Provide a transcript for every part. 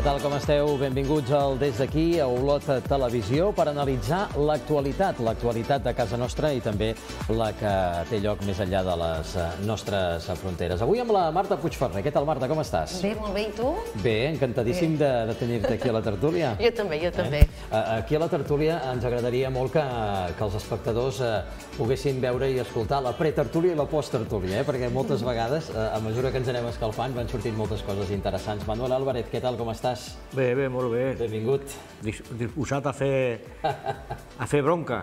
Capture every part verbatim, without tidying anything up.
Què tal, com esteu? Benvinguts al Des d'aquí, a Olot Televisió, per analitzar l'actualitat, l'actualitat de casa nostra i també la que té lloc més enllà de les nostres fronteres. Avui amb la Marta Puigferrer. Què tal, Marta, com estàs? Bé, molt bé, i tu? Bé, encantadíssim de, de tenir-te aquí a la tertúlia. Jo també, jo també. Eh? Aquí a la tertúlia ens agradaria molt que, que els espectadors eh, poguessin veure i escoltar la pretertúlia i la posttertúlia, eh? Perquè moltes vegades, eh, a mesura que ens anem escalfant, van sortint moltes coses interessants. Manuel Álvarez, què tal, com estàs? Bé, bé, molt bé. Benvingut. Disposat a fer, a fer bronca.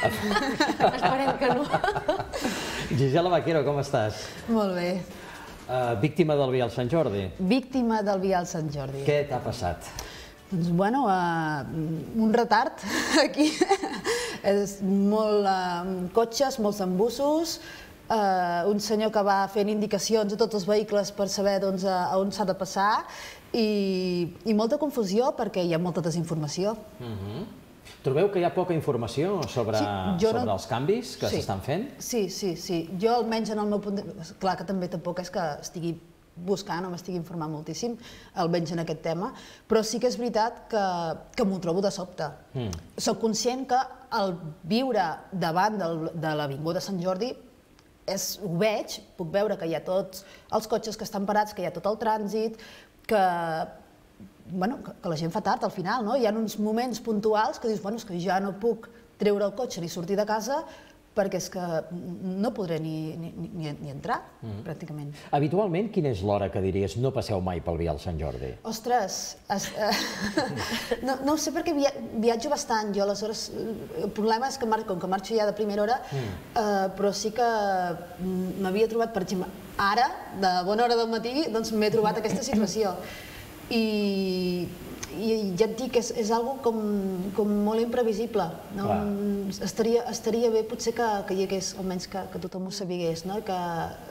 Esperem que no. Gisela Vaquero, com estàs? Molt bé. Uh, víctima del Vial Sant Jordi. Víctima del Vial Sant Jordi. Què t'ha passat? Doncs, bueno, uh, un retard aquí. És molt uh, cotxes, molts embussos, uh, un senyor que va fent indicacions a tots els vehicles per saber doncs, a on s'ha de passar i, i molta confusió perquè hi ha molta desinformació. Uh-huh. Trobeu que hi ha poca informació sobre, sí, sobre no... els canvis que s'estan sí. fent? Sí, sí, sí. Jo almenys en el meu punt de... Clar que també tampoc és que estigui buscant o m'estigui informant moltíssim, almenys en aquest tema, però sí que és veritat que, que m'ho trobo de sobte. Mm. Soc conscient que el viure davant del, de l'Avinguda Sant Jordi és, ho veig, puc veure que hi ha tots els cotxes que estan parats, que hi ha tot el trànsit, que, bueno, que, que la gent fa tard al final, no? Hi ha uns moments puntuals que dius, bueno, és que ja no puc treure el cotxe ni sortir de casa perquè és que no podré ni, ni, ni, ni entrar, mm. pràcticament. Habitualment, quina és l'hora que diries no passeu mai pel Vial Sant Jordi? Ostres, es, eh, no, no ho sé perquè via, viatjo bastant jo, aleshores el problema és que mar, com que marxo ja de primera hora, mm. eh, però sí que m'havia trobat, per exemple, ara, de bona hora del matí, doncs m'he trobat aquesta situació. I, i ja et dic, és, és algo com, com molt imprevisible. No? Estaria, estaria bé potser que, que hi hagués, almenys que, que tothom ho sabigués, no? Que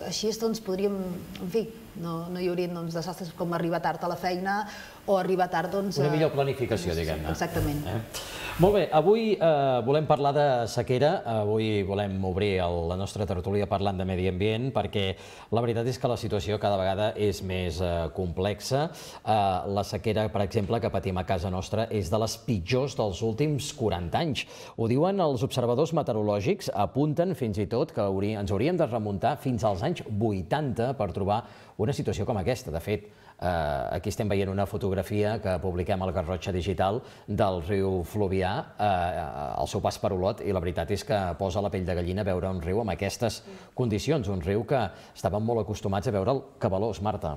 així doncs, podríem, en fi, no, no hi haurien doncs, desastres com arribar tard a la feina o arribar tard... Doncs, una millor planificació, diguem-ne. Exactament. Eh? Molt bé, avui eh, volem parlar de sequera, avui volem obrir el, la nostra tertúlia parlant de medi ambient, perquè la veritat és que la situació cada vegada és més eh, complexa. Eh, la sequera, per exemple, que patim a casa nostra és de les pitjors dels últims quaranta anys. Ho diuen els observadors meteorològics, apunten fins i tot que haurí, ens hauríem de remuntar fins als anys vuitanta per trobar una situació com aquesta. De fet, eh, aquí estem veient una fotografia que publiquem al Garrotxa Digital del riu Fluvià eh, al seu pas per Olot, i la veritat és que posa la pell de gallina veure un riu amb aquestes condicions, un riu que estàvem molt acostumats a veure'l cabalós, Marta.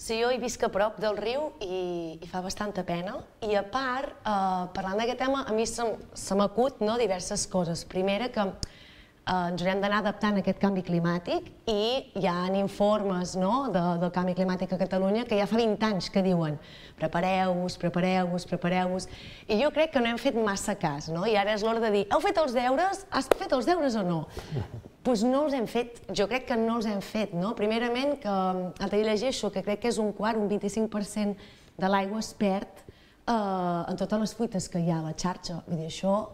Sí, jo hi visc a prop del riu i, i fa bastanta pena. I a part, eh, parlant d'aquest tema, a mi se, se m'acut no, diverses coses. Primera, que ens haurem d'anar adaptant a aquest canvi climàtic i hi ha informes no, de, del canvi climàtic a Catalunya que ja fa vint anys que diuen prepareu-vos, prepareu-vos, prepareu-vos, i jo crec que no hem fet massa cas, no? I ara és l'hora de dir, heu fet els deures? Has fet els deures o no? Doncs no els hem fet, jo crec que no els hem fet, no? Primerament, que l'altre dia llegeixo que crec que és un quart, un vint-i-cinc per cent de l'aigua es perd eh, en totes les fuites que hi ha a la xarxa, vull dir, això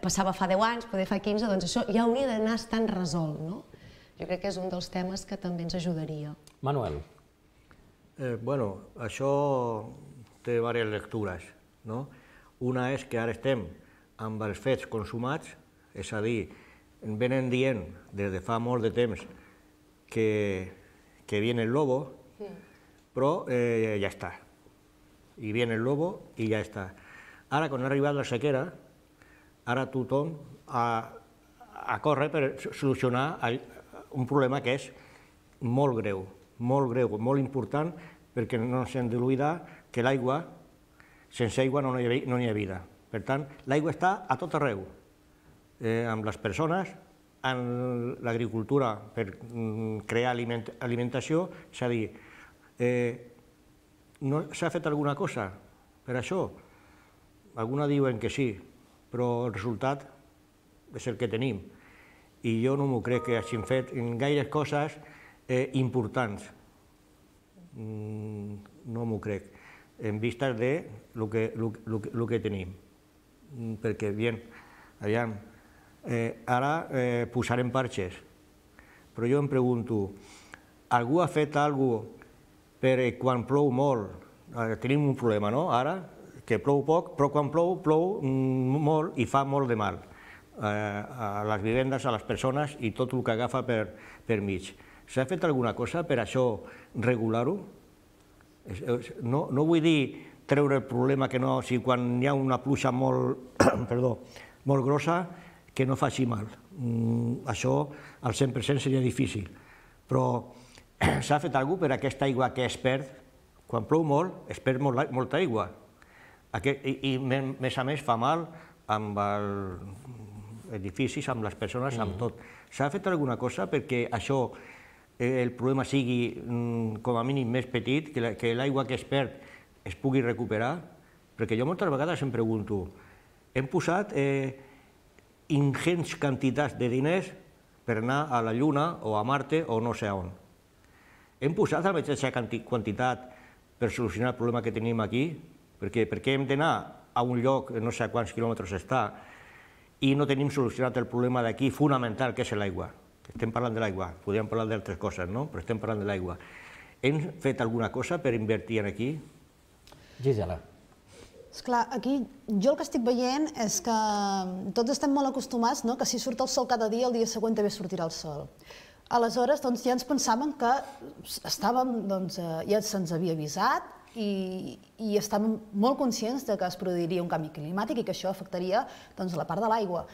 passava fa deu anys, poder fa quinze, doncs això ja hauria d'anar estant resolt, no? Jo crec que és un dels temes que també ens ajudaria. Manuel. Eh, bueno, això té diverses lectures, no? Una és que ara estem amb els fets consumats, és a dir, ens venen dient des de fa molt de temps que, que viene el lobo, però eh, ja està. I viene el lobo i ja està. Ara, quan ha arribat la sequera, ara tothom a, a córrer per solucionar un problema que és molt greu, molt greu, molt important, perquè no s'hem d'oblidar que l'aigua, sense aigua no hi ha, no hi ha vida. Per tant, l'aigua està a tot arreu, eh, amb les persones, en l'agricultura per crear aliment, alimentació, és a dir, eh, no s'ha fet alguna cosa per això? Alguna diuen que sí, però el resultat és el que tenim. I jo no m'ho crec que hagin fet gaires coses eh, importants. Mm, no m'ho crec, en vista de lo que, lo, lo, lo que tenim. Mm, perquè, bien, aviam, eh, ara eh, posarem parxes, però jo em pregunto, algú ha fet alguna cosa per quan plou molt tenim un problema, no? Ara, que plou poc, però quan plou, plou molt i fa molt de mal a les vivendes, a les persones i tot el que agafa per mig. S'ha fet alguna cosa per això regular-ho? No vull dir treure el problema que no, si quan hi ha una pluja molt, perdó, molt grossa, que no faci mal. Això al cent per cent seria difícil. Però s'ha fet alguna cosa per aquesta aigua que es perd? Quan plou molt, es perd molta aigua. I, més a més, fa mal amb els edificis, amb les persones, amb tot. S'ha fet alguna cosa perquè això, el problema sigui com a mínim més petit, que l'aigua que es perd es pugui recuperar? Perquè jo moltes vegades em pregunto, hem posat ingents quantitats de diners per anar a la Lluna o a Marte o no sé on. Hem posat la mateixa quantitat per solucionar el problema que tenim aquí? Perquè hem d'anar a un lloc, no sé a quants quilòmetres està, i no tenim solucionat el problema d'aquí fonamental, que és l'aigua. Estem parlant de l'aigua, podríem parlar d'altres coses, no? Però estem parlant de l'aigua. Hem fet alguna cosa per invertir aquí? Gisela. Esclar, aquí jo el que estic veient és que tots estem molt acostumats que si surt el sol cada dia, el dia següent també sortirà el sol. Aleshores, ja ens pensàvem que ja se'ns havia avisat i estàvem molt conscients que es produiria un canvi climàtic i que això afectaria la part de l'aigua.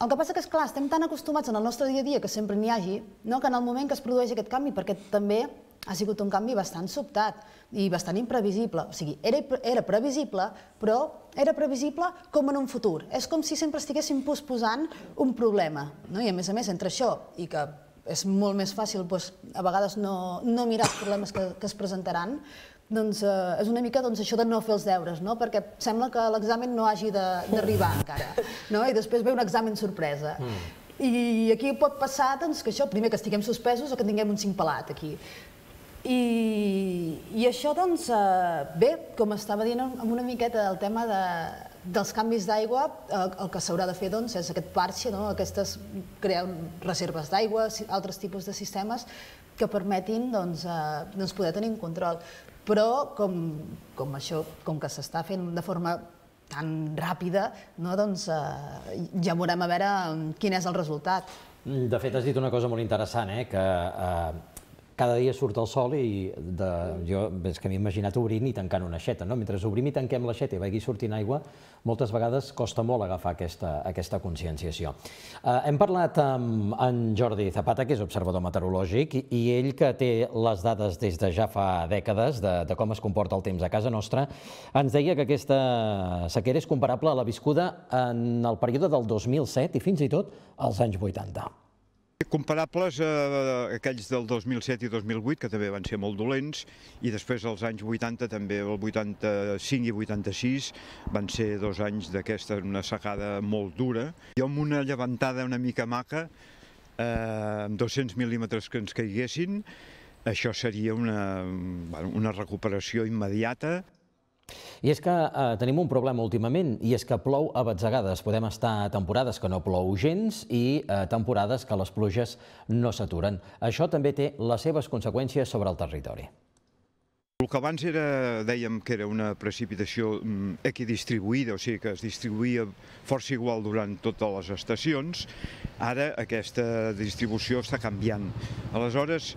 El que passa que, esclar, estem tan acostumats en el nostre dia a dia que sempre n'hi hagi, que en el moment que es produeix aquest canvi, perquè també ha sigut un canvi bastant sobtat i bastant imprevisible. O sigui, era previsible, però era previsible com en un futur. És com si sempre estiguéssim posposant un problema. I a més a més, entre això i que és molt més fàcil a vegades no mirar els problemes que es presentaran, doncs és una mica això de no fer els deures, perquè sembla que l'examen no hagi d'arribar encara, i després ve un examen sorpresa. I aquí pot passar que això, primer que estiguem suspesos o que tinguem un cinc pelat aquí. I això, doncs, bé, com estava dient amb una miqueta el tema dels canvis d'aigua, el que s'haurà de fer és aquest parche, crear reserves d'aigua, altres tipus de sistemes que permetin poder tenir un control. Però, com això, com que s'està fent de forma tan ràpida, doncs ja veurem a veure quin és el resultat. De fet, has dit una cosa molt interessant, que cada dia surt el sol i jo és que m'he imaginat obrint i tancant una aixeta. Mentre obrim i tanquem l'aixeta i vagi sortint aigua, moltes vegades costa molt agafar aquesta conscienciació. Hem parlat amb en Jordi Zapata, que és observador meteorològic, i ell, que té les dades des de ja fa dècades de com es comporta el temps a casa nostra, ens deia que aquesta sequera és comparable a la viscuda en el període del dos mil set i fins i tot als anys vuitanta. Comparables a aquells del dos mil set i dos mil vuit, que també van ser molt dolents, i després als anys vuitanta, també el vuitanta-cinc i vuitanta-sis, van ser dos anys d'aquesta, una secada molt dura. I amb una llevantada una mica maca, amb dos-cents mil·límetres que ens caiguessin, això seria una recuperació immediata. I és que tenim un problema últimament, i és que plou a batzegades. Podem estar a temporades que no plou gens i temporades que les pluges no s'aturen. Això també té les seves conseqüències sobre el territori. El que abans dèiem que era una precipitació equidistribuïda, o sigui que es distribuïa força igual durant totes les estacions, ara aquesta distribució està canviant. Aleshores,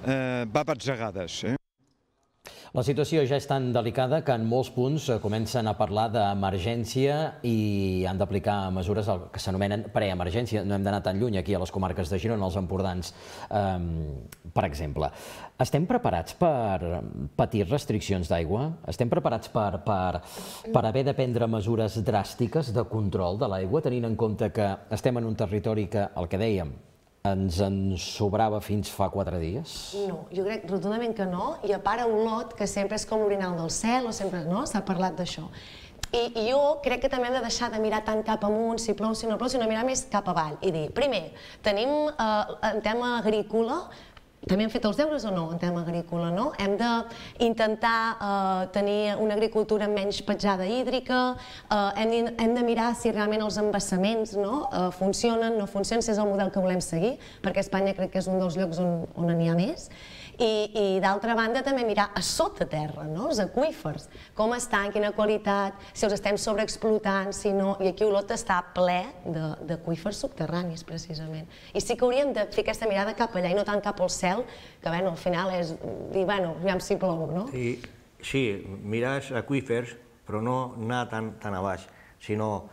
va a batzegades. La situació ja és tan delicada que en molts punts comencen a parlar d'emergència i han d'aplicar mesures que s'anomenen preemergència. No hem d'anar tan lluny aquí a les comarques de Girona, als Empordans, per exemple. Estem preparats per patir restriccions d'aigua? Estem preparats per haver de prendre mesures dràstiques de control de l'aigua, tenint en compte que estem en un territori que, el que dèiem, ens en sobrava fins fa quatre dies? No, jo crec rotundament que no, i a part a Olot, que sempre és com l'orinal del cel, o sempre s'ha parlat d'això. I jo crec que també hem de deixar de mirar tant cap amunt, si plou, si no plou, sinó mirar més cap avall i dir, primer, tenim en tema agrícola també hem fet els deures o no en tema agrícola, no? Hem d'intentar tenir una agricultura menys petjada hídrica, hem de mirar si realment els embassaments funcionen, no funcionen, si és el model que volem seguir, perquè Espanya crec que és un dels llocs on n'hi ha més. I d'altra banda també mirar a sota terra, els aqüífers, com estan, quina qualitat, si els estem sobreexplotant, si no, i aquí Olot està ple d'aqüífers subterranis, precisament. I sí que hauríem de fer aquesta mirada cap allà i no tant cap al cel, que al final és dir, bueno, aviam si plou, no? Sí, mires aqüífers, però no anar tan a baix, sinó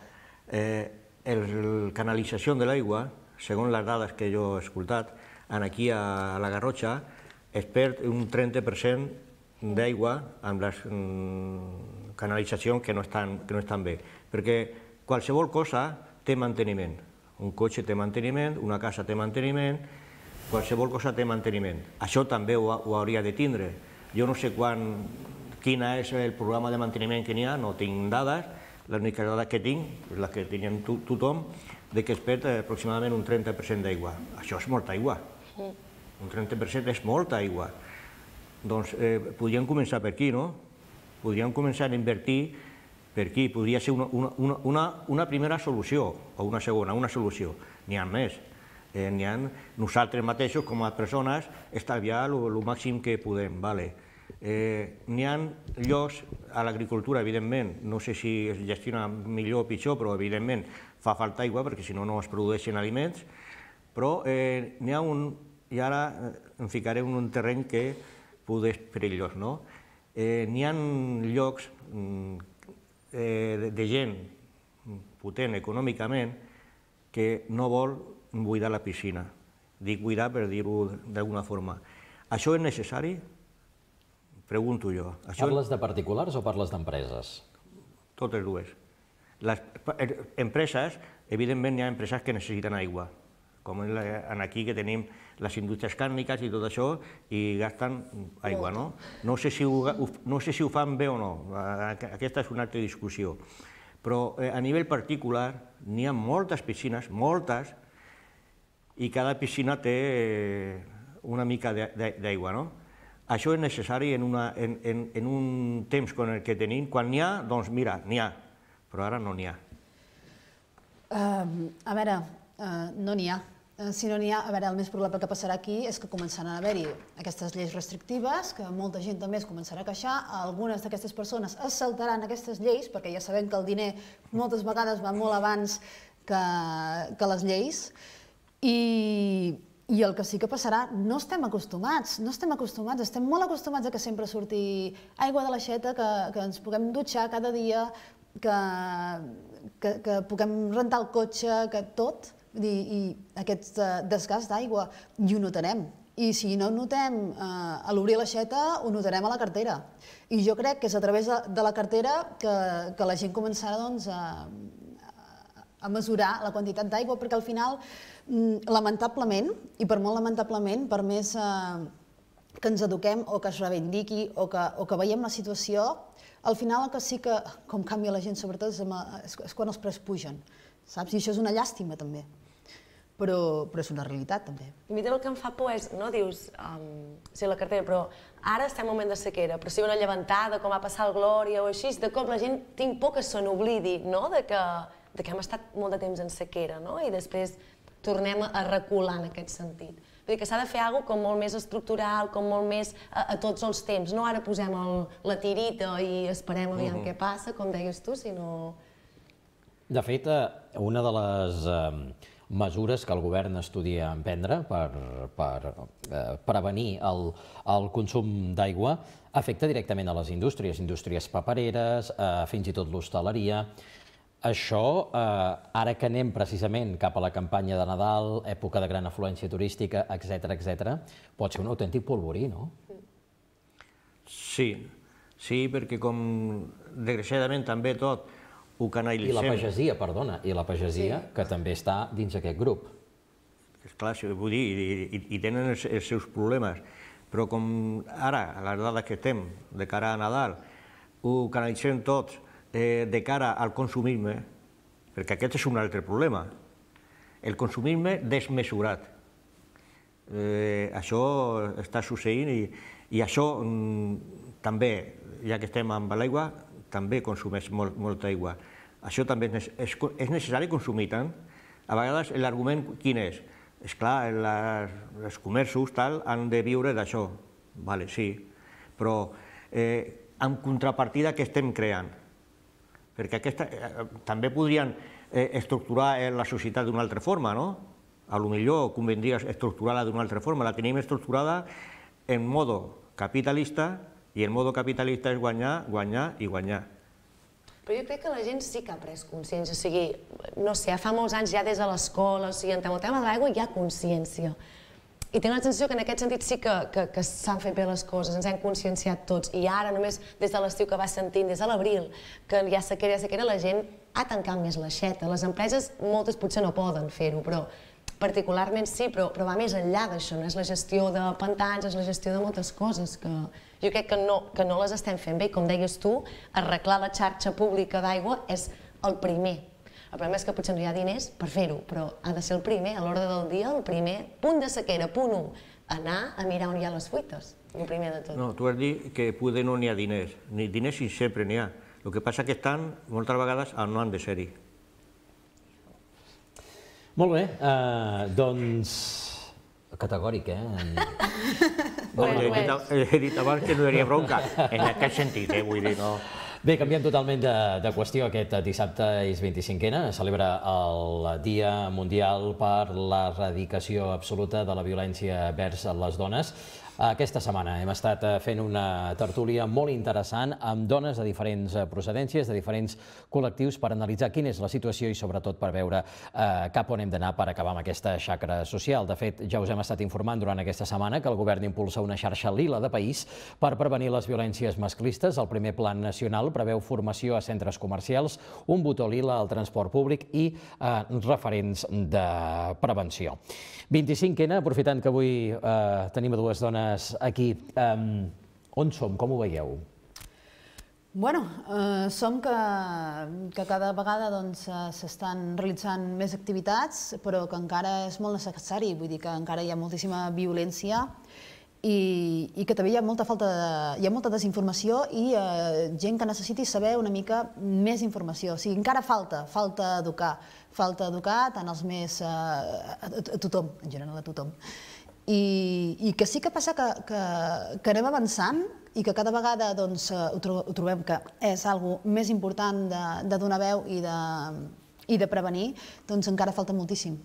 la canalització de l'aigua, segons les dades que jo he escoltat, aquí a la Garrotxa, es perd un trenta per cent d'aigua amb les canalitzacions que no estan bé, perquè qualsevol cosa té manteniment. Un cotxe té manteniment, una casa té manteniment, qualsevol cosa té manteniment. Això també ho hauria de tindre. Jo no sé quin és el programa de manteniment que n'hi ha, no tinc dades, l'única dada que tinc, la que tenim tothom, que es perd aproximadament un trenta per cent d'aigua. Això és molta aigua. Un trenta per cent és molta aigua. Doncs podríem començar per aquí, no? Podríem començar a invertir per aquí. Podria ser una primera solució, o una segona, una solució. N'hi ha més. N'hi ha nosaltres mateixos, com a persones, estalviar el màxim que podem. N'hi ha llocs a l'agricultura, evidentment, no sé si es gestiona millor o pitjor, però evidentment fa falta aigua perquè si no no es produeixen aliments, però n'hi ha un... i ara em ficaré en un terreny que poder és perillós, no? N'hi ha llocs de gent potent econòmicament que no vol buidar la piscina. Dic buidar per dir-ho d'alguna forma. Això és necessari? Pregunto jo. Parles de particulars o parles d'empreses? Totes dues. Les empreses, evidentment hi ha empreses que necessiten aigua, com aquí que tenim les indústries càrniques i tot això, i gasten aigua, no? No sé si ho fan bé o no, aquesta és una altra discussió. Però a nivell particular n'hi ha moltes piscines, moltes, i cada piscina té una mica d'aigua, no? Això és necessari en un temps com el que tenim. Quan n'hi ha, doncs mira, n'hi ha, però ara no n'hi ha. A veure, no n'hi ha. Si no n'hi ha, a veure, el més probable que passarà aquí és que començaran a haver-hi aquestes lleis restrictives, que molta gent també es començarà a queixar, algunes d'aquestes persones es saltaran aquestes lleis, perquè ja sabem que el diner moltes vegades va molt abans que les lleis, i el que sí que passarà, no estem acostumats, no estem acostumats, estem molt acostumats a que sempre surti aigua de l'aixeta, que ens puguem dutxar cada dia, que puguem rentar el cotxe, que tot, i aquest desgast d'aigua, i ho notarem. I si no ho notem a l'obrir l'aixeta, ho notarem a la cartera. I jo crec que és a través de la cartera que la gent començarà a mesurar la quantitat d'aigua, perquè al final, lamentablement, i per molt lamentablement, per més que ens eduquem o que es reivindiqui o que veiem la situació, al final el que sí que, com canvia la gent sobretot, és quan els preus pugen, saps? I això és una llàstima també, però és una realitat també. A mi també el que em fa por és, no dius, sí, la cartera, però ara estem en un moment de sequera, però si hi ha una llevantada, com va passar el Glòria o així, de cop la gent tinc por que se n'oblidi, no?, de que hem estat molt de temps en sequera, no?, i després tornem a recular en aquest sentit. Vull dir que s'ha de fer alguna cosa com molt més estructural, com molt més a tots els temps, no ara posem la tirita i esperem aviam què passa, com deies tu, sinó... De fet, una de les mesures que el govern estudia emprendre per prevenir el consum d'aigua afecta directament a les indústries, indústries papereres, fins i tot l'hostaleria. Això, ara que anem precisament cap a la campanya de Nadal, època de gran afluència turística, etcètera, etcètera, pot ser un autèntic polvorí, no? Sí, sí, perquè com desgraciadament també tot ho canalitzem. I la pagesia, perdona, i la pagesia, que també està dins aquest grup. Esclar, vull dir, i tenen els seus problemes, però com ara, a les dades que estem, de cara a Nadal, ho canalitzem tots de cara al consumisme, perquè aquest és un altre problema, el consumisme desmesurat. Eh, això està succeint i, i això mm, també, ja que estem amb l'aigua, també consumeix molt, molta aigua. Això també és, és, és necessari consumir tant. A vegades l'argument quin és? És clar, les, els comerços tal, han de viure d'això. Vale, sí, però eh, amb contrapartida que estem creant. Perquè aquesta, eh, també podrien eh, estructurar eh, la societat d'una altra forma, no? A lo millor convendria estructurar-la d'una altra forma. La tenim estructurada en modo capitalista i el modo capitalista és guanyar, guanyar i guanyar. Però jo crec que la gent sí que ha pres consciència, o sigui, no sé, fa molts anys ja des de l'escola, o sigui, en el tema de l'aigua hi ha consciència. I tinc la sensació que en aquest sentit sí que, que, que s'han fet bé les coses, ens hem conscienciat tots, i ara només des de l'estiu que va sentint, des de l'abril, que hi ha sequera, hi ha sequera, la gent ha tancat més l'aixeta. Les empreses, moltes potser no poden fer-ho, però particularment sí, però, però va més enllà d'això, no és la gestió de pantans, és la gestió de moltes coses que jo crec que no, que no les estem fent bé. Com deies tu, arreglar la xarxa pública d'aigua és el primer. El problema és que potser no hi ha diners per fer-ho, però ha de ser el primer, a l'ordre del dia, el primer punt de sequera, punt u, anar a mirar on hi ha les fuites, el primer de tot. No, tu has dit que poder no n'hi ha diners, ni diners sí sempre n'hi ha. El que passa que estan moltes vegades on no han de ser-hi. Molt bé, uh, doncs... categòric, eh? Bueno, he, dit, he dit abans que no hi hauria bronca, en aquest sentit, eh? Vull dir, no... Bé, canviem totalment de, de qüestió. Aquest dissabte és vint-i-cinquena, es celebra el Dia Mundial per l'Erradicació Absoluta de la Violència vers les dones. Aquesta setmana hem estat fent una tertúlia molt interessant amb dones de diferents procedències, de diferents col·lectius, per analitzar quina és la situació i sobretot per veure eh, cap on hem d'anar per acabar amb aquesta xacra social. De fet, ja us hem estat informant durant aquesta setmana que el govern impulsa una xarxa lila de país per prevenir les violències masclistes. El primer plan nacional preveu formació a centres comercials, un botó lila al transport públic i eh, referents de prevenció. vint-i-cinquena, aprofitant que avui eh, tenim dues dones aquí. Um, on som? Com ho veieu? Bueno, eh, som que, que cada vegada doncs, s'estan realitzant més activitats, però que encara és molt necessari, vull dir que encara hi ha moltíssima violència i, i que també hi ha molta falta de, hi ha molta desinformació i eh, gent que necessiti saber una mica més informació. O sigui, encara falta, falta educar, falta educar tant als més, eh, a, a tothom, en general a tothom. I, i que sí que passa que, que, que anem avançant i que cada vegada doncs, ho, tro ho trobem que és algo més important de, de donar veu i de, i de prevenir, doncs encara falta moltíssim.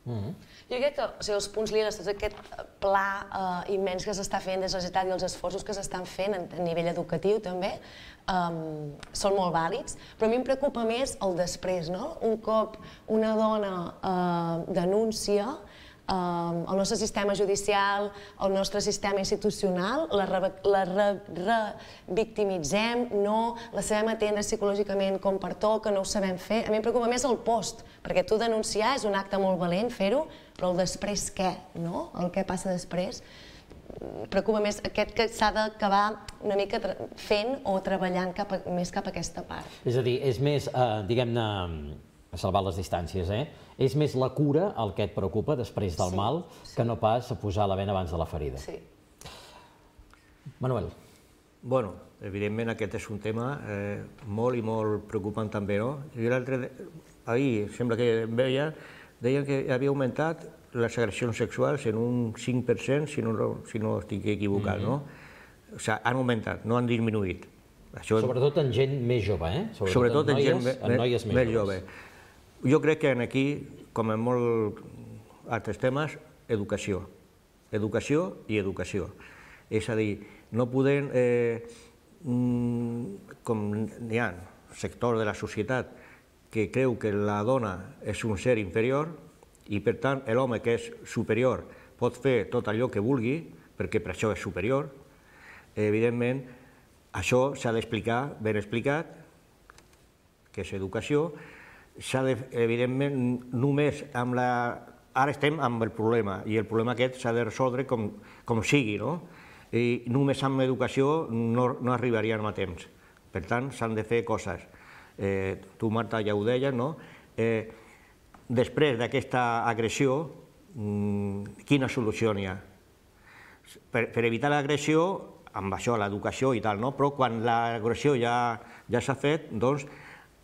Mm-hmm. Jo crec que o sigui, els punts liles, tot aquest pla eh, immens que s'està fent des de la societat i els esforços que s'estan fent a, a nivell educatiu també um, són molt vàlids, però a mi em preocupa més el després, no? Un cop una dona eh, denúncia, Um, el nostre sistema judicial, el nostre sistema institucional, la revictimitzem, re, re no la sabem atendre psicològicament com pertoca, no ho sabem fer. A mi em preocupa més el post, perquè tu denunciar és un acte molt valent fer-ho, però el després què, no? El que passa després. Preocupa més aquest que s'ha d'acabar una mica fent o treballant cap a, més cap a aquesta part. És a dir, és més, eh, diguem-ne, a salvar les distàncies, eh? És més la cura el que et preocupa després del sí, mal que sí. No pas a posar la bena abans de la ferida. Sí. Manuel. Bueno, evidentment aquest és un tema eh, molt i molt preocupant també, no? Jo l'altre, ahir sembla que veia, deien que havia augmentat les agressions sexuals en un cinc per cent, si no, si no estic equivocat, mm-hmm. no? O sigui, han augmentat, no han disminuït. Això... Sobretot en gent més jove, eh? Sobretot, Sobretot en, noies, gent en noies més, més jove. Jo crec que aquí, com en molts altres temes, educació. Educació i educació. És a dir, no podem, eh, com hi ha sector de la societat que creu que la dona és un ser inferior i, per tant, l'home que és superior pot fer tot allò que vulgui, perquè per això és superior, evidentment, això s'ha d'explicar, ben explicat, que és educació, s'ha de, evidentment, només amb la... Ara estem amb el problema, i el problema aquest s'ha de resoldre com, com sigui, no? I només amb educació no, no arribaríem a temps. Per tant, s'han de fer coses. Eh, tu, Marta, ja ho deies, no? Eh, després d'aquesta agressió, quina solució n'hi ha? Per evitar l'agressió, amb això, l'educació i tal, però quan l'agressió ja s'ha fet, doncs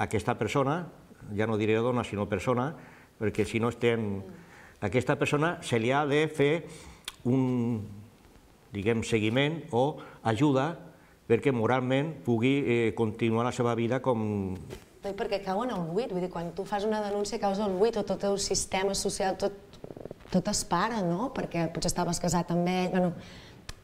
aquesta persona, ja no diré dona, sinó persona, perquè si no estem... Aquesta persona se li ha de fer un, diguem, seguiment o ajuda perquè moralment pugui continuar la seva vida com... Perquè cau en el buit, vull dir, quan tu fas una denúncia caus el buit o tot el sistema social, tot es para, no? Perquè potser estaves casat amb ell...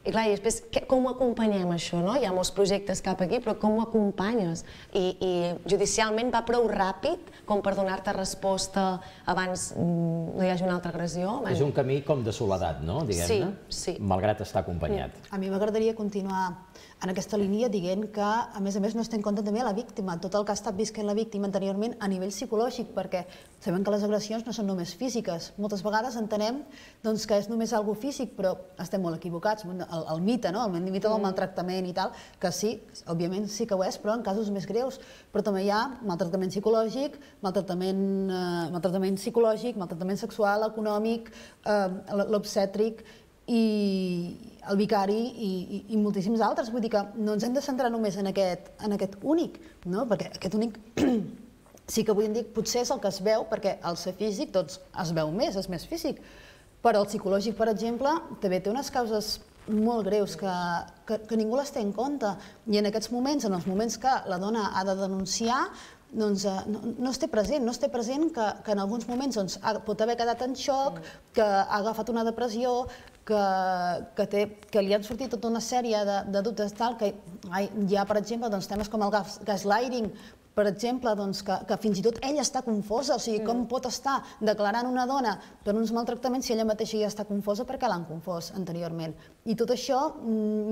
I clar, i després, com ho acompanyem això, no? Hi ha molts projectes cap aquí, però com ho acompanyes? I judicialment va prou ràpid com per donar-te resposta abans no hi hagi una altra agressió? És un camí com de soledat, no? Diguem-ne? Sí, sí. Malgrat estar acompanyat. A mi m'agradaria continuar en aquesta línia dient que, a més a més, no es té en compte també la víctima, tot el que ha estat visquent la víctima anteriorment a nivell psicològic, perquè sabem que les agressions no són només físiques. Moltes vegades entenem que és només algo físic, però estem molt equivocats. El mite, el mite del maltractament i tal, que sí, òbviament sí que ho és, però en casos més greus. Però també hi ha maltractament psicològic, maltractament psicològic, maltractament sexual, econòmic, l'obstètric, i el vicari i moltíssims altres. Vull dir que no ens hem de centrar només en aquest únic, perquè aquest únic sí que avui en dia potser és el que es veu, perquè al ser físic doncs es veu més, és més físic, però el psicològic, per exemple, també té unes causes molt greus que ningú les té en compte, i en aquests moments, en els moments que la dona ha de denunciar, doncs no es té present, no es té present que en alguns moments pot haver quedat en xoc, que ha agafat una depressió, que li han sortit tota una sèrie de dubtes tal, que hi ha, per exemple, temes com el gaslighting, per exemple, que fins i tot ella està confosa, o sigui, com pot estar declarant una dona per uns maltractaments si ella mateixa ja està confosa perquè l'han confós anteriorment. I tot això,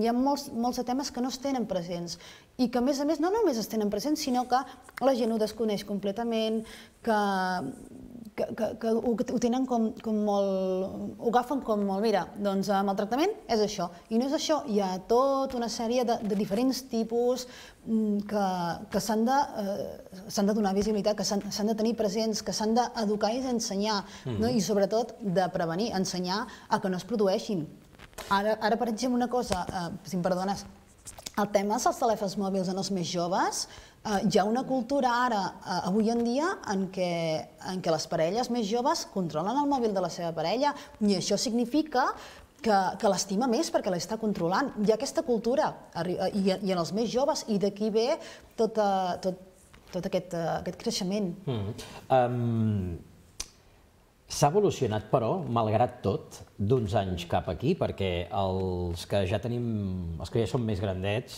hi ha molts de temes que no es tenen presents i que, a més a més, no només es tenen presents, sinó que la gent ho desconeix completament, que ho tenen com molt... ho agafen com molt, mira, doncs el maltractament és això, i no és això, hi ha tota una sèrie de diferents tipus que s'han de donar visibilitat, que s'han de tenir presents, que s'han d'educar i d'ensenyar, i sobretot de prevenir, ensenyar a que no es produeixin. Ara, per exemple, una cosa, si em perdones, el tema dels telèfons mòbils en els més joves, hi ha una cultura ara, avui en dia, en què les parelles més joves controlen el mòbil de la seva parella, i això significa que l'estima més perquè l'està controlant. Hi ha aquesta cultura, i en els més joves, i d'aquí ve tot aquest creixement. S'ha evolucionat, però, malgrat tot, d'uns anys cap aquí, perquè els que ja tenim, els que ja som més grandets,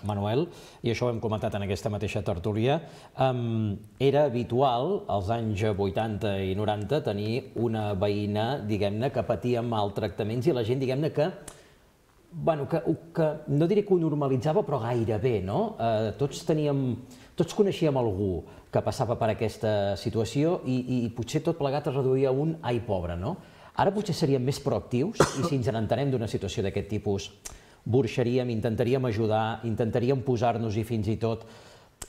Manuel, i això ho hem comentat en aquesta mateixa tertúlia, era habitual, als anys vuitanta i noranta, tenir una veïna, diguem-ne, que patia maltractaments i la gent, diguem-ne, que, bueno, que no diré que ho normalitzava, però gairebé, no? Tots teníem... Tots coneixíem algú que passava per aquesta situació i potser tot plegat es reduïa a un ai, pobre, no? Ara potser seríem més proactius i si ens n'entenem d'una situació d'aquest tipus, burxaríem, intentaríem ajudar, intentaríem posar-nos-hi fins i tot,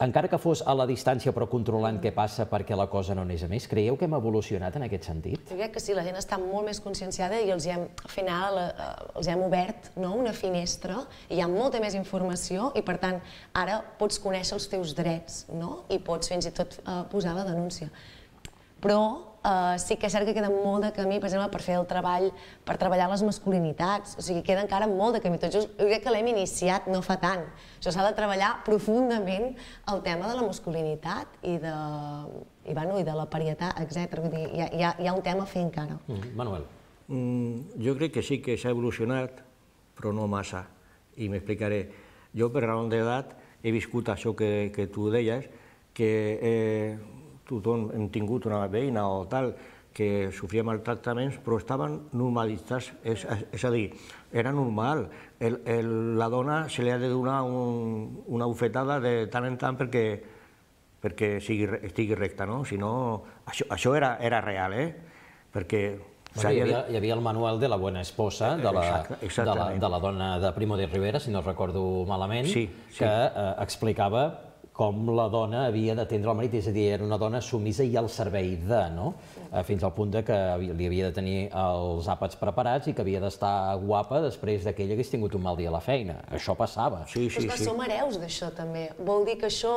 encara que fos a la distància però controlant què passa perquè la cosa no anés a més. Creieu que hem evolucionat en aquest sentit? Jo crec que sí, la gent està molt més conscienciada i al final els hem obert una finestra i hi ha molta més informació i per tant ara pots conèixer els teus drets i pots fins i tot posar la denúncia. Però sí que és cert que queda molt de camí, per exemple, per fer el treball, per treballar les masculinitats. O sigui, queda encara molt de camí. Tot just, jo crec que l'hem iniciat no fa tant. Això s'ha de treballar profundament el tema de la masculinitat i de la parietat, etcètera. Vull dir, hi ha un tema a fer encara. Manuel. Jo crec que sí que s'ha evolucionat, però no massa. I m'explicaré. Jo, per raó d'edat, he viscut això que tu deies, que tothom hem tingut una veïna o tal que sofria maltractaments, però estaven normalitzats, és a dir, era normal. La dona se li ha de donar una bufetada de tant en tant perquè estigui recta, no? Si no, això era real, eh? Perquè... Hi havia el manual de la buena esposa, de la dona de Primo de Rivera, si no recordo malament, que explicava com la dona havia d'atendre el marit, és a dir, era una dona sumisa i al servei de, no? Fins al punt que li havia de tenir els àpats preparats i que havia d'estar guapa després que ell hagués tingut un mal dia a la feina. Això passava. Sí, sí, sí. Però som hereus d'això, també. Vol dir que això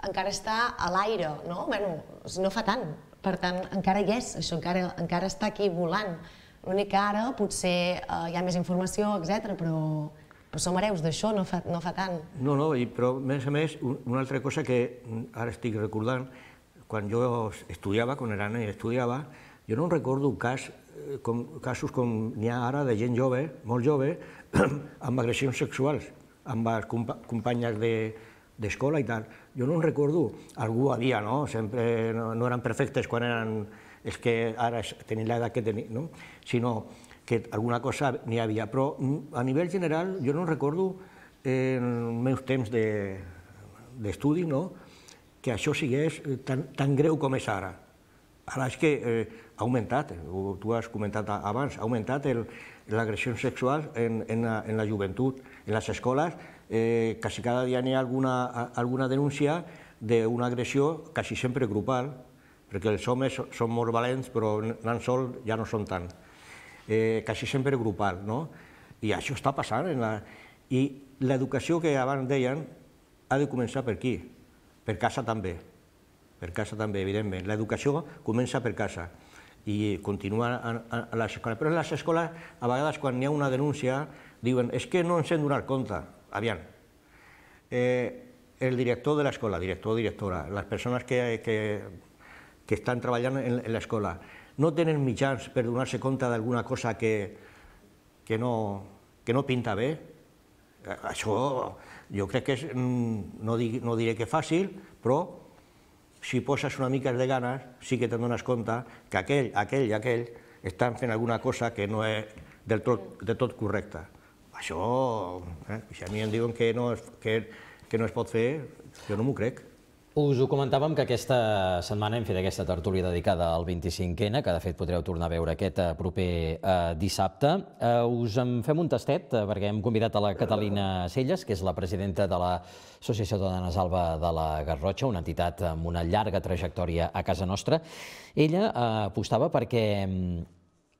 encara està a l'aire, no? Bueno, no fa tant. Per tant, encara hi és, això encara està aquí volant. L'únic que ara potser hi ha més informació, etcètera, però som hereus d'això, no fa tant. No, no, però a més a més, una altra cosa que ara estic recordant, quan jo estudiava, quan era nen i estudiava, jo no recordo casos com n'hi ha ara de gent jove, molt jove, amb agressions sexuals, amb les companyes d'escola i tal. Jo no en recordo, algú havia, no? Sempre no eren perfectes quan eren els que ara tenien l'edat que tenien, no? Sinó que alguna cosa n'hi havia. Però a nivell general jo no recordo en els meus temps d'estudi que això sigués tan greu com és ara. Ara és que ha augmentat, tu has comentat abans, ha augmentat l'agressió sexual en la joventut. En les escoles quasi cada dia n'hi ha alguna denúncia d'una agressió quasi sempre grupal, perquè els homes són molt valents però anant sols ja no són tant. Quasi sempre grupal, no? I això està passant. I l'educació que abans deien ha de començar per aquí, per casa també, per casa també, evidentment. L'educació comença per casa i continua a les escoles. Però en les escoles, a vegades, quan hi ha una denúncia, diuen és que no ens hem donat compte. Aviam, el director de l'escola, director o directora, les persones que estan treballant en l'escola, no tenen mitjans per donar-se compte d'alguna cosa que no pinta bé. Això jo crec que és, no diré que fàcil, però si poses una mica de ganes sí que te'n dones compte que aquell, aquell i aquell estan fent alguna cosa que no és del tot correcta. Això, si a mi em diuen que no es pot fer, jo no m'ho crec. Us ho comentàvem que aquesta setmana hem fet aquesta tertúlia dedicada al vint-i-cinc ena, que de fet podreu tornar a veure aquest proper dissabte. Us en fem un tastet perquè hem convidat a la Catalina Celles, que és la presidenta de l'Associació de Dones Alba de la Garrotxa, una entitat amb una llarga trajectòria a casa nostra. Ella apostava perquè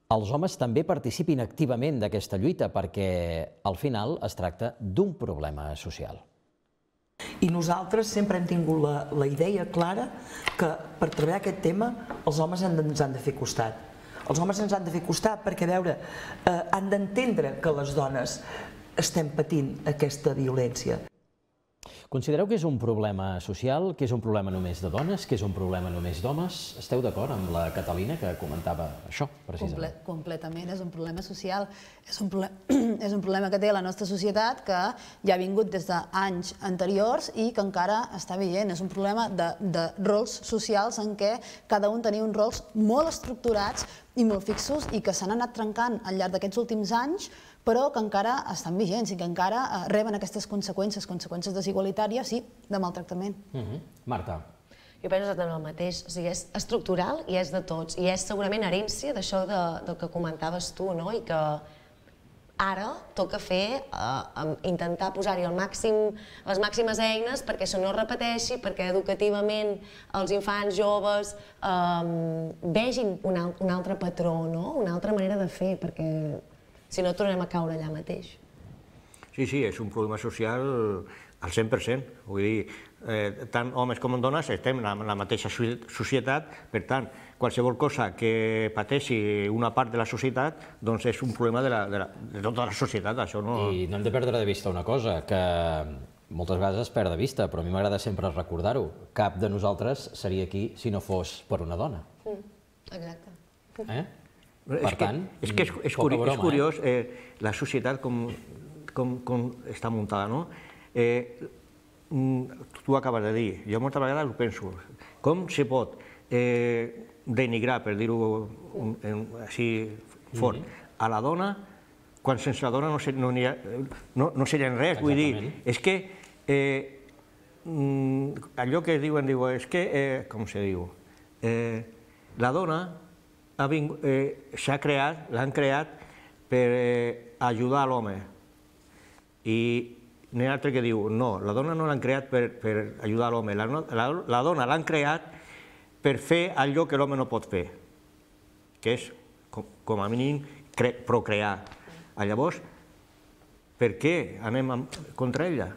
els homes també participin activament d'aquesta lluita, perquè al final es tracta d'un problema social. I nosaltres sempre hem tingut la idea clara que per treballar aquest tema els homes ens han de fer costat. Els homes ens han de fer costat perquè, a veure, han d'entendre que les dones estem patint aquesta violència. Considereu que és un problema social, que és un problema només de dones, que és un problema només d'homes? Esteu d'acord amb la Catalina que comentava això, precisament? Completament, és un problema social. És un problema que té la nostra societat, que ja ha vingut des d'anys anteriors i que encara està vigent. És un problema de rols socials en què cada un tenia uns rols molt estructurats i molt fixos i que s'han anat trencant al llarg d'aquests últims anys, però que encara estan vigents i que encara reben aquestes conseqüències, conseqüències desigualitàries i de maltractament. Marta. Jo penso exactament el mateix. O sigui, és estructural i és de tots. I és segurament herència d'això del que comentaves tu, no? I que ara toca fer, intentar posar-hi les màximes eines perquè això no es repeteixi, perquè educativament els infants joves vegin un altre patró, una altra manera de fer, perquè si no tornem a caure allà mateix. Sí, sí, és un problema social al cent per cent. Vull dir, tant homes com dones estem en la mateixa societat, per tant, qualsevol cosa que pateixi una part de la societat, doncs és un problema de tota la societat, això no... I no hem de perdre de vista una cosa, que moltes vegades es perd de vista, però a mi m'agrada sempre recordar-ho. Cap de nosaltres seria aquí si no fos per una dona. Exacte. Eh? Per tant, és que és curiós la societat com està muntada, no? Tu acabes de dir, jo moltes vegades ho penso, com se pot denigrar, per dir-ho així fort, a la dona quan sense la dona no seria res, vull dir, és que allò que diuen, és que, com se diu, la dona s'ha creat, l'han creat per ajudar l'home. I n'hi ha altre que diu, no, la dona no l'han creat per, per ajudar l'home, la, la, la dona l'han creat per fer allò que l'home no pot fer, que és, com, com a mínim, cre, procrear. Llavors, per què anem amb, contra ella?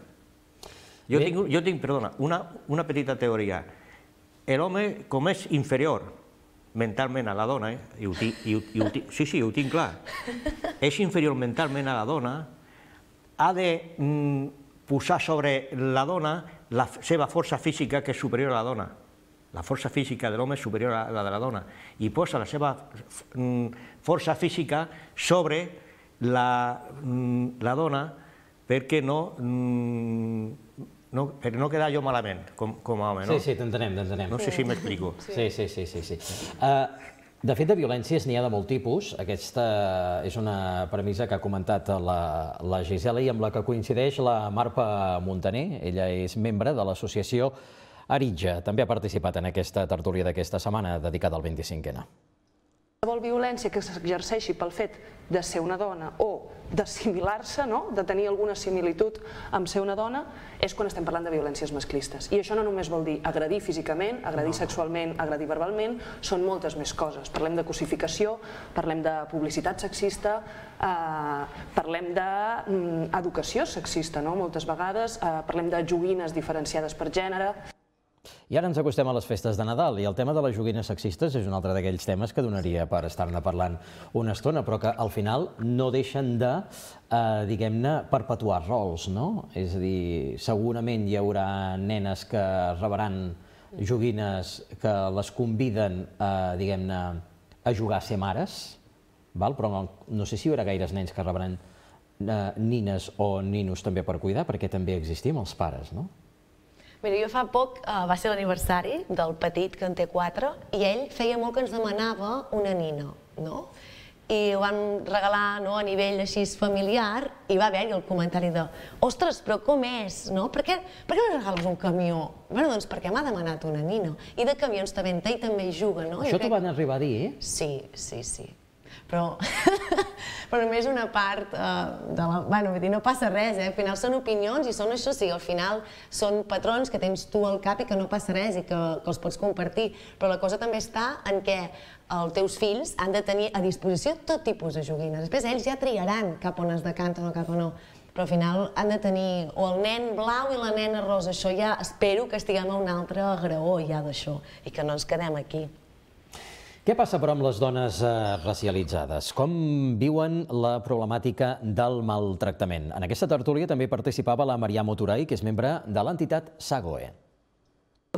Jo tinc, jo tinc, perdona, una, una petita teoria. L'home, com és inferior mentalment a la dona, eh, i ho tinc, i ho, i ho tinc, sí, sí, ho tinc clar, és inferior mentalment a la dona, ha de mm, posar sobre la dona la seva força física, que és superior a la dona. La força física de l'home és superior a la de la dona. I posa la seva mm, força física sobre la, mm, la dona perquè no, mm, no, per no quedar jo malament, com, com a home, no? Sí, sí, t'entenem, t'entenem. No sé si m'explico. Sí, sí, sí, sí. sí. Uh, de fet, de violències n'hi ha de molt tipus. Aquesta és una premissa que ha comentat la, la Gisela i amb la que coincideix la Marpa Montaner. Ella és membre de l'associació Aritja. També ha participat en aquesta tertúlia d'aquesta setmana dedicada al vint-i-cinquè. Qualsevol violència que s'exerceixi pel fet de ser una dona o d'assimilar-se, no? De tenir alguna similitud amb ser una dona, és quan estem parlant de violències masclistes. I això no només vol dir agredir físicament, agredir sexualment, agredir verbalment, són moltes més coses. Parlem de cosificació, parlem de publicitat sexista, eh, parlem d'educació sexista, no? Moltes vegades, eh, parlem de joguines diferenciades per gènere. I ara ens acostem a les festes de Nadal i el tema de les joguines sexistes és un altre d'aquells temes que donaria per estar-ne parlant una estona, però que al final no deixen de, eh, diguem-ne, perpetuar rols, no? És a dir, segurament hi haurà nenes que rebran joguines que les conviden a, diguem-ne, a jugar a ser mares, val? Però no, no sé si hi haurà gaires nens que rebran eh, nines o ninos també per cuidar, perquè també existim els pares, no? Mira, jo fa poc uh, va ser l'aniversari del petit, que en té quatre, i ell feia molt que ens demanava una nina, no? I ho van regalar, no, a nivell així familiar, i va haver-hi el comentari de ostres, però com és, no? Per què, per què no regales un camió? Bueno, doncs perquè m'ha demanat una nina. I de camions també en té i també hi juga, no? Això t'ho van arribar a dir, eh? Sí, sí, sí. Però, però només una part uh, de la... Bueno, vull dir, no passa res, eh? Al final són opinions i són això, sí, al final són patrons que tens tu al cap i que no passa res i que, que els pots compartir. Però la cosa també està en què els teus fills han de tenir a disposició tot tipus de joguines. Després ells ja triaran cap on es decanten o cap on no. Però al final han de tenir o el nen blau i la nena rosa. Això ja espero que estiguem a un altre graó ja d'això i que no ens quedem aquí. Què passa, però, amb les dones eh, racialitzades? Com viuen la problemàtica del maltractament? En aquesta tertúlia també participava la Marià Moturay, que és membre de l'entitat SAGOE.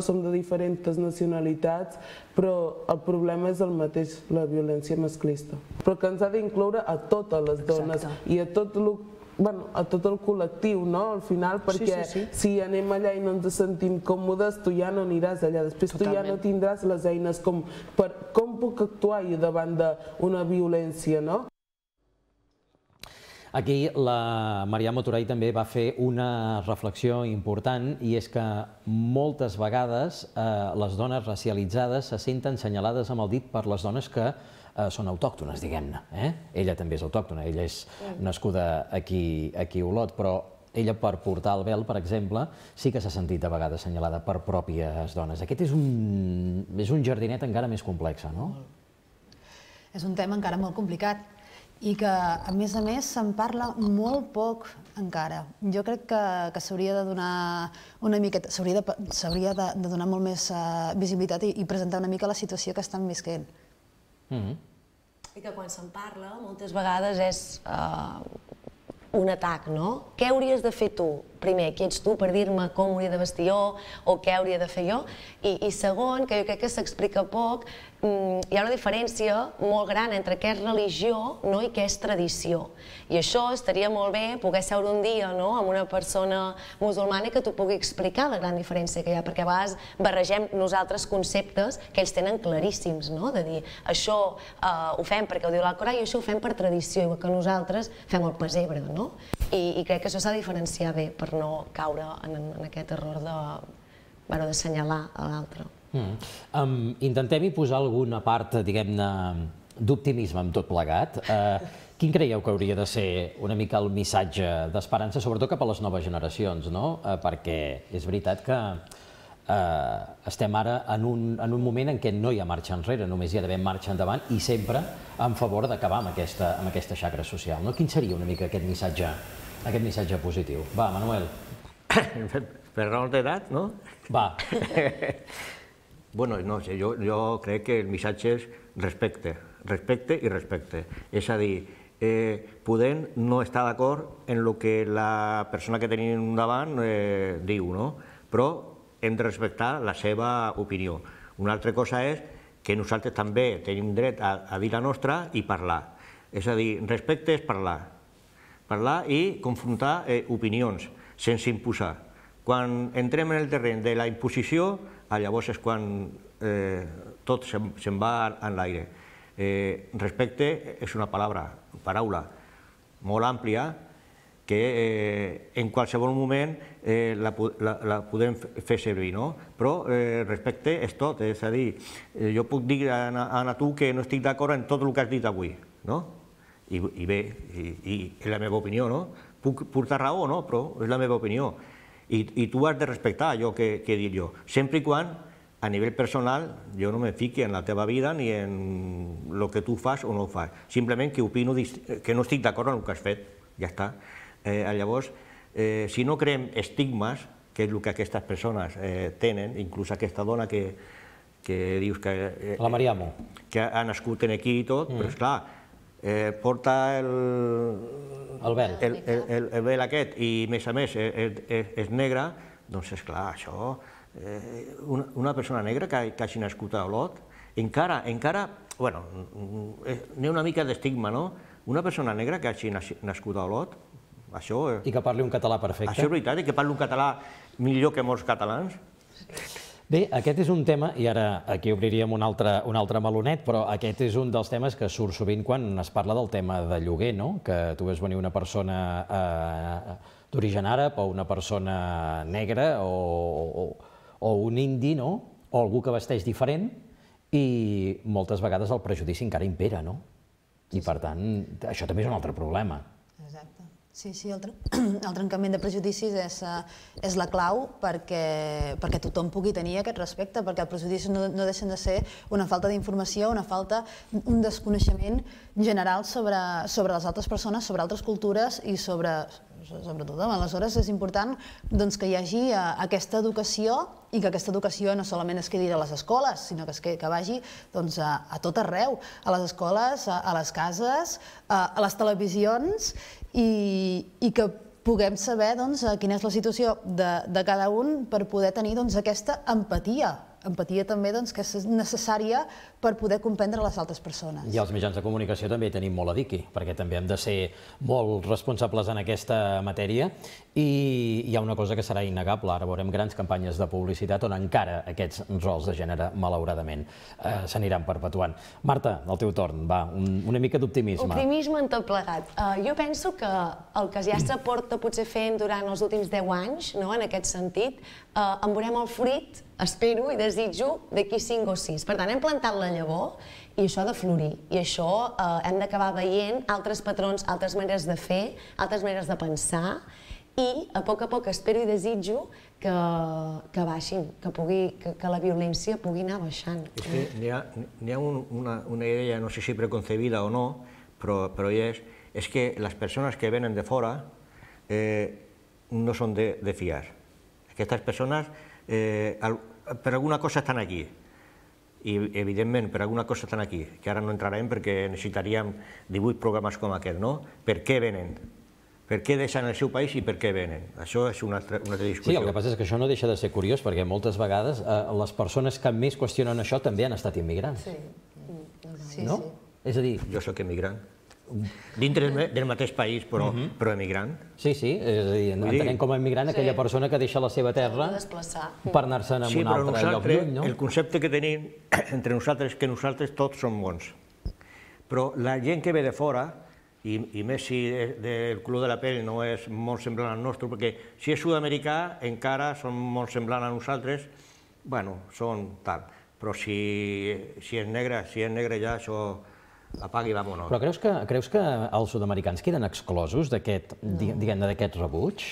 Som de diferents nacionalitats, però el problema és el mateix, la violència masclista. Però que ens ha d'incloure a totes les dones. Exacte. I a tot el Bueno, a tot el col·lectiu, no? Al final, perquè sí, sí, sí. si anem allà i no ens sentim còmodes, tu ja no aniràs allà. Després Totalment. tu ja no tindràs les eines com per com puc actuar jo davant d'una violència, no? Aquí la Marià Moturay també va fer una reflexió important i és que moltes vegades eh, les dones racialitzades se senten senyalades amb el dit per les dones que eh, són autòctones, diguem-ne. Eh? Ella també és autòctona, ella és nascuda aquí, aquí a Olot, però ella per portar el vel, per exemple, sí que s'ha sentit a vegades senyalada per pròpies dones. Aquest és un, és un jardinet encara més complex, no? És un tema encara molt complicat i que, a més a més, se'n parla molt poc encara. Jo crec que, que s'hauria de donar una miqueta, s'hauria de, s'hauria de, de donar molt més uh, visibilitat i, i presentar una mica la situació que estan visquent. Mm-hmm. I que quan se'n parla, moltes vegades és uh, un atac, no? Què hauries de fer tu? Primer, qui ets tu per dir-me com hauria de vestir jo o què hauria de fer jo? I, i segon, que jo crec que s'explica poc, hi ha una diferència molt gran entre què és religió, no, i què és tradició. I això estaria molt bé poder seure un dia, no, amb una persona musulmana que t'ho pugui explicar la gran diferència que hi ha, perquè a vegades barregem nosaltres conceptes que ells tenen claríssims, no? De dir, això eh, ho fem perquè ho diu l'Alcorà i això ho fem per tradició, igual que nosaltres fem el pessebre, no? I, i crec que això s'ha de diferenciar bé per no caure en, en aquest error de, bueno, d'assenyalar a l'altre. Mm. Um, intentem-hi posar alguna part, diguem-ne, d'optimisme amb tot plegat. Uh, Quin creieu que hauria de ser una mica el missatge d'esperança, sobretot cap a les noves generacions, no? Perquè és veritat que estem ara en un moment en què no hi ha marxa enrere, només hi ha d'haver marxa endavant i sempre en favor d'acabar amb aquesta xacra social. Quin seria una mica aquest missatge positiu? Va, Manuel. Per raons d'edat, no? Va. Bueno, no sé, jo crec que el missatge és respecte, respecte i respecte. És a dir, podem no estar d'acord en el que la persona que tenim davant diu, no? Però hem de respectar la seva opinió. Una altra cosa és que nosaltres també tenim dret a dir la nostra i parlar. És a dir, respecte és parlar. Parlar i confrontar opinions, sense imposar. Quan entrem en el terreny de la imposició, llavors és quan tot se'n va en l'aire. Respecte és una paraula molt àmplia que en qualsevol moment la podem fer servir, però respecte és tot, és a dir, jo puc dir a tu que no estic d'acord en tot el que has dit avui, i bé, és la meva opinió, puc portar raó, però és la meva opinió, i tu has de respectar allò que he dit jo, sempre i quan a nivell personal jo no me fiqui en la teva vida ni en el que tu fas o no fas, simplement que opino que no estic d'acord amb el que has fet, ja està. Llavors, si no creem estigmes, que és el que aquestes persones tenen, inclús aquesta dona que dius que... La Mariamo. Que ha nascut aquí i tot, però esclar, porta el... El vel. El vel aquest i, a més a més, és negre, doncs esclar, això... Una persona negra que hagi nascut a Olot, encara, encara, bueno, n'hi ha una mica d'estigma, no? Una persona negra que hagi nascut a Olot, això... I que parli un català perfecte. Això és veritat, i que parli un català millor que molts catalans. Bé, aquest és un tema, i ara aquí obriríem un altre melonet, però aquest és un dels temes que surt sovint quan es parla del tema de lloguer, no? Que tu veus venir una persona d'origen àrab o una persona negra o un indi, no? O algú que vesteix diferent, i moltes vegades el prejudici encara impera, no? I per tant, això també és un altre problema. Exacte. Sí, sí, el trencament de prejudicis és la clau perquè tothom pugui tenir aquest respecte, perquè els prejudicis no deixen de ser una falta d'informació, una falta, un desconeixement general sobre les altres persones, sobre altres cultures i sobre tothom. Aleshores és important que hi hagi aquesta educació i que aquesta educació no solament es quedi a les escoles, sinó que vagi a tot arreu, a les escoles, a les cases, a les televisions, i que puguem saber quina és la situació de cada un per poder tenir aquesta empatia. Empatia també que és necessària per poder comprendre les altres persones. I els mitjans de comunicació també tenim molt a dir aquí, perquè també hem de ser molt responsables en aquesta matèria, i hi ha una cosa que serà innegable. Ara veurem grans campanyes de publicitat on encara aquests rols de gènere, malauradament, s'aniran perpetuant. Marta, al teu torn, va, una mica d'optimisme. Optimisme en tot plegat. Jo penso que el que ja s'aporta potser fent durant els últims deu anys, en aquest sentit, en veurem el fruit, espero i desitjo, d'aquí cinc o sis. Per tant, hem plantat la llavor i això ha de florir. I això hem d'acabar veient altres patrons, altres maneres de fer, altres maneres de pensar, i a poc a poc espero i desitjo que baixin, que la violència pugui anar baixant. És que n'hi ha una idea, no sé si preconcebida o no, però hi és, és que les persones que venen de fora no són de fiar. Aquestes persones per alguna cosa estan aquí, i evidentment per alguna cosa estan aquí, que ara no entrarem perquè necessitaríem divuit programes com aquest, no? Per què venen? Per què deixen el seu país i per què venen? Això és una altra discussió. Sí, el que passa és que això no deixa de ser curiós, perquè moltes vegades les persones que més qüestionen això també han estat immigrants. Sí. No? És a dir... Jo soc immigrant. Dintre del mateix país, però emigrant. Sí, sí, és a dir, entenem com a immigrant aquella persona que deixa la seva terra per anar-se'n a un altre lloc lluny, no? El concepte que tenim entre nosaltres és que nosaltres tots som bons. Però la gent que ve de fora, i més si el color de la pell no és molt semblant al nostre, perquè si és sud-americà encara són molt semblants a nosaltres, bueno, són tal. Però si és negre, si és negre ja això... apaga i vámonos. Però creus que, creus que els sud-americans queden exclosos d'aquest, diguem-ne, d'aquest rebuig?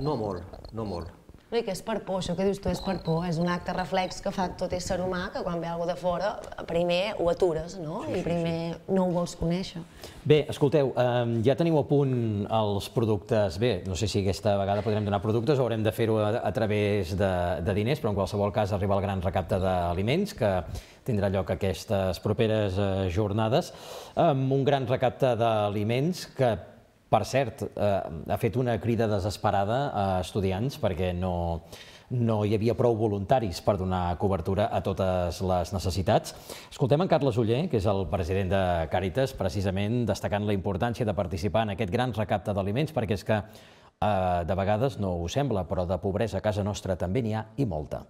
No molt, no molt. No, i que és per por, això que dius tu és per por, és un acte reflex que fa tot ésser humà, que quan ve algú de fora, primer ho atures, no? I primer no ho vols conèixer. Bé, escolteu, ja teniu a punt els productes, bé, no sé si aquesta vegada podrem donar productes o haurem de fer-ho a través de diners, però en qualsevol cas arriba el gran recapte d'aliments, que tindrà lloc aquestes properes jornades, amb un gran recapte d'aliments que, per cert, ha fet una crida desesperada a estudiants perquè no, no hi havia prou voluntaris per donar cobertura a totes les necessitats. Escoltem en Carles Oller, que és el president de Càritas, precisament destacant la importància de participar en aquest gran recapte d'aliments, perquè és que de vegades no ho sembla, però de pobresa a casa nostra també n'hi ha i molta.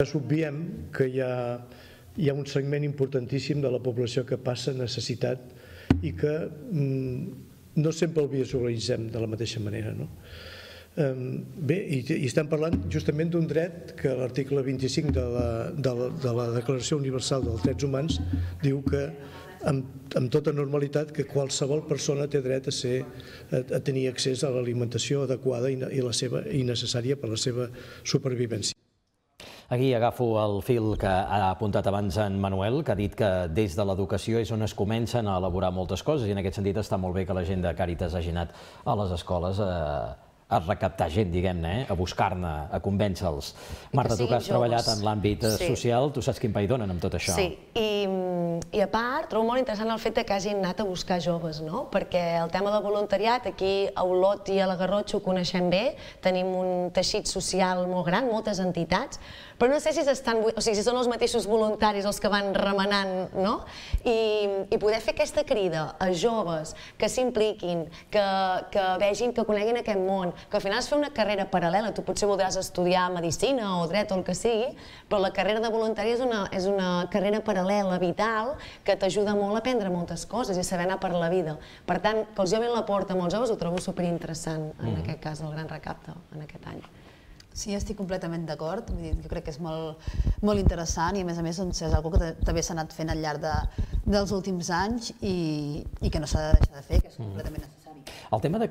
Obviem que hi ha, hi ha un segment importantíssim de la població que passa necessitat i que no sempre el visualitzem de la mateixa manera. Bé, i estem parlant justament d'un dret que l'article vint-i-cinc de la Declaració Universal dels Drets Humans diu que amb tota normalitat que qualsevol persona té dret a tenir accés a l'alimentació adequada i necessària per a la seva supervivència. Aquí agafo el fil que ha apuntat abans en Manuel, que ha dit que des de l'educació és on es comencen a elaborar moltes coses i en aquest sentit està molt bé que la gent de Càritas hagi anat a les escoles a recaptar gent, diguem-ne, a buscar-ne, a convèncer-los. Marta, tu que has treballat en l'àmbit social, tu saps quin pa hi donen amb tot això. Sí, i a part trobo molt interessant el fet que hagin anat a buscar joves, no? Perquè el tema del voluntariat, aquí a Olot i a la Garrotxa ho coneixem bé, tenim un teixit social molt gran, moltes entitats, però no sé si s'estan, o sigui, si són els mateixos voluntaris els que van remenant, no? I poder fer aquesta crida a joves que s'impliquin, que vegin, que coneguin aquest món, que al final es fa una carrera paral·lela, tu potser voldràs estudiar medicina o dret o el que sigui, però la carrera de voluntari és una carrera paral·lela, vital, que t'ajuda molt a aprendre moltes coses i a saber anar per la vida. Per tant, que els obrin la porta a molts joves ho trobo superinteressant, en aquest cas, el gran recapte, en aquest any. Sí, estic completament d'acord. Jo crec que és molt interessant i, a més a més, és una cosa que també s'ha anat fent al llarg dels últims anys i que no s'ha de deixar de fer, que és completament necessari. El tema de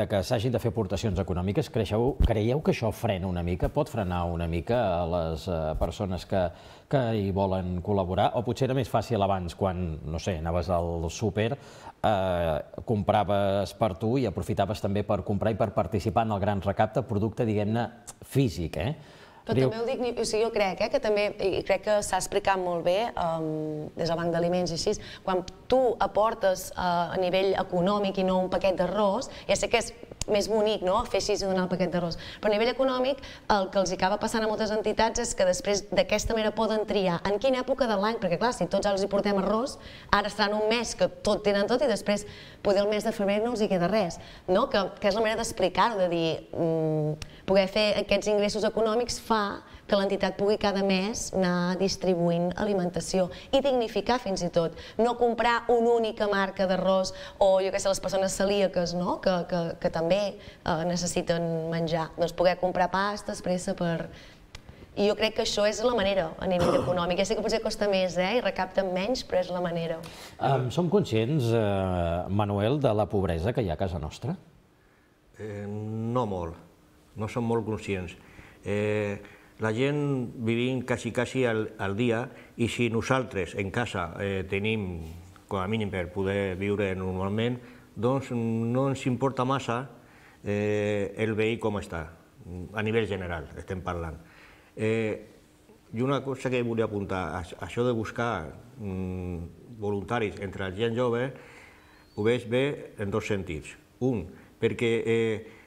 que s'hagin de fer aportacions econòmiques, creieu que això frena una mica, pot frenar una mica a les persones que hi volen col·laborar? O potser era més fàcil abans, quan, no sé, anaves al súper, compraves per tu i aprofitaves també per comprar i per participar en el gran recapte, producte, diguem-ne, físic, eh? Però també ho dic, o sigui, jo crec que també, i crec que s'ha explicat molt bé des del Banc d'Aliments i així, quan tu aportes a nivell econòmic i no un paquet d'arròs, ja sé que és més bonic, no?, fer així i donar el paquet d'arròs, però a nivell econòmic el que els acaba passant a moltes entitats és que després d'aquesta manera poden triar en quina època de l'any, perquè clar, si tots els hi portem arròs, ara estaran un mes que tot tenen tot i després poder el mes de febrer no els hi queda res, no?, que és la manera d'explicar-ho, de dir, poder fer aquests ingressos econòmics fa que l'entitat pugui cada mes anar distribuint alimentació i dignificar fins i tot, no comprar una única marca d'arròs o jo què sé, les persones celíaques, no?, que també necessiten menjar, doncs poder comprar pastes, pressa per... I jo crec que això és la manera a nivell econòmic. Ja sé que potser costa més i recapten menys, però és la manera. Som conscients, Manuel, de la pobresa que hi ha a casa nostra? No molt, no som molt conscients. La gent vivim quasi, quasi al dia i si nosaltres en casa tenim, com a mínim per poder viure normalment, doncs no ens importa massa el veí com està, a nivell general estem parlant. I una cosa que volia apuntar, això de buscar voluntaris entre la gent jove, ho veig bé en dos sentits. Un, perquè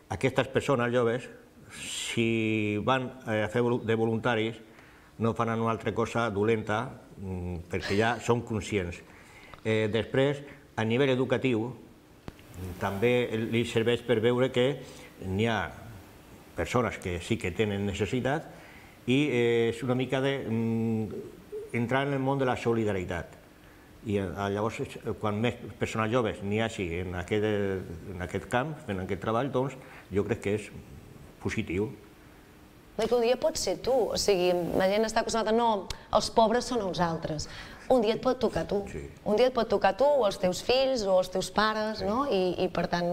aquestes persones joves, si van a fer de voluntaris, no fan una altra cosa dolenta, perquè ja són conscients. Després, a nivell educatiu, també li serveix per veure que n'hi ha persones que sí que tenen necessitat i és una mica d'entrar en el món de la solidaritat. I llavors, quan més persones joves n'hi hagi en aquest camp, en aquest treball, doncs jo crec que és positiu. que un dia pot ser tu, o sigui, la gent està acostumada, no, els pobres són els altres. Un dia et pot tocar tu, un dia et pot tocar tu, o els teus fills, o els teus pares, no? I per tant,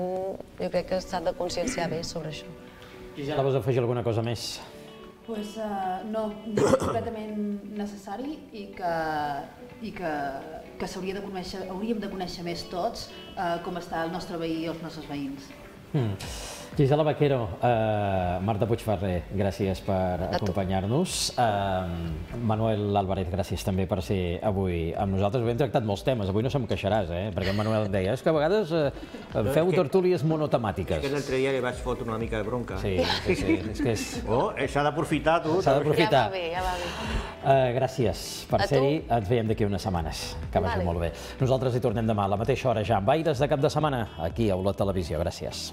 jo crec que s'ha de conscienciar bé sobre això. Gisela, vols afegir alguna cosa més? Doncs no, no és completament necessari i que, i que, que s'hauria de conèixer, hauríem de conèixer més tots com està el nostre veí i els nostres veïns. Gisela Vaquero, Marta Puigferrer, gràcies per acompanyar-nos. Manuel Álvarez, gràcies també per ser avui amb nosaltres. Avui hem tractat molts temes, avui no se'm queixaràs, perquè en Manuel em deia, és que a vegades feu tertúlies monotemàtiques. És que l'altre dia li vaig fotre una mica de bronca. Sí, sí, sí, és que és... Oh, s'ha d'aprofitar, tu. S'ha d'aprofitar. Ja va bé, ja va bé. Gràcies per ser-hi, ens veiem d'aquí unes setmanes, que vagi molt bé. Nosaltres hi tornem demà a la mateixa hora ja amb Aires de cap de setmana, aquí a Olot Televisió. Gràcies.